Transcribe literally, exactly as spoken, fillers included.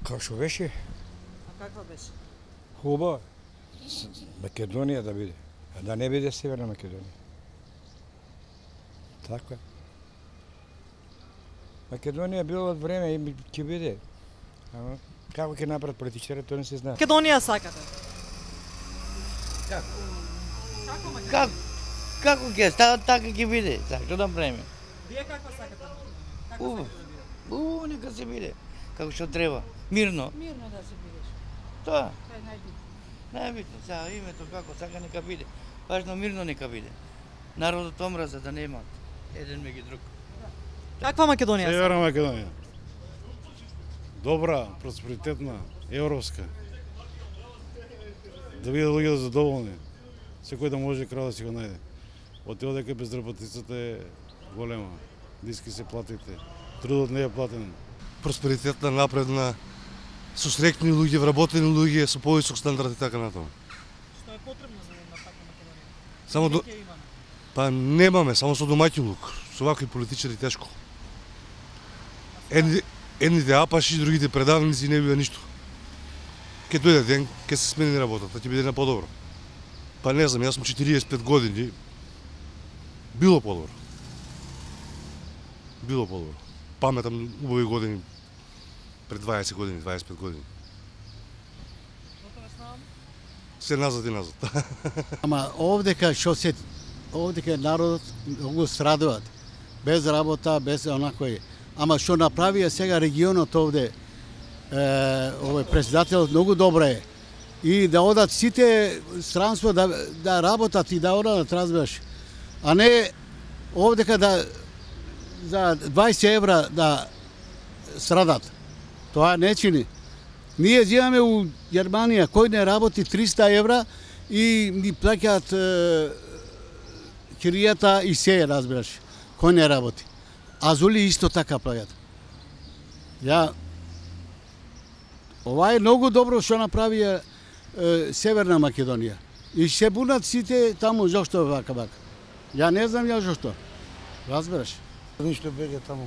Како што беше? А каква беше? Хубава. Македонија да биде, а да не биде Северна Македонија. Така е. Македонија било од време и ќе биде. Ама како ќе направат политичарите, тоа не се знае. Македонија сакате? Како? Како Македонија? Како? Како ќе става, така ќе биде. Зашто да правиме? Вие каква сакате? Како Убаво. сакате да биде? Убаво нека се биде. Како што треба. Мирно. Мирно да се бидеш. Тоа. Тоа е најбитно. Најбитно. Сега името како сака нека биде. Важно мирно нека биде. Народот омраза да нема еден меѓу друг. Каква Македонија? Северна Македонија. Добра, просперитетна, европска. Да биде луѓето задоволни. Секој да може крај да си го најде. Од тоа дека безработицата е голема. Диски се платите. Трудот не е платен. Просперитетна, напредна, со среќни луѓе, вработени луѓе, со повисок стандард и така натаму. Што е потребно за една таква Македонија? Само до... Ќе имаме. Па немаме, само со домаќинлук. Со вакви политичари тешко. Едните, едните апаши, другите предавници, не бива ништо. Ке дојде ден, ке се смени работата, ќе биде на подобро. Па не знам, јас сум четириесет и пет години. Било подобро. Било подобро. Паметам убави години, пред дваесет години, дваесет и пет години. Се назад и назад. Ама овдека што се овдека народот многу страдуваат. Без работа, без онакој. Ама што направија сега регионот овде, е, овој председател многу добро е. И да одат сите странство да да работат и да одат, разбираш. А не овдека да за дваесет евра да страдат. Тоа не чини. Ние живееме у Германија, кој не работи триста евра и ни плаќаат киријата и се, разбираш. Кој не работи. Азули исто така плаќаат. Ја ова е многу добро што направија е, Северна Македонија. И се бунат сите таму зошто вака вака. Ја не знам ја зошто. Разбираш? Ништо бега таму.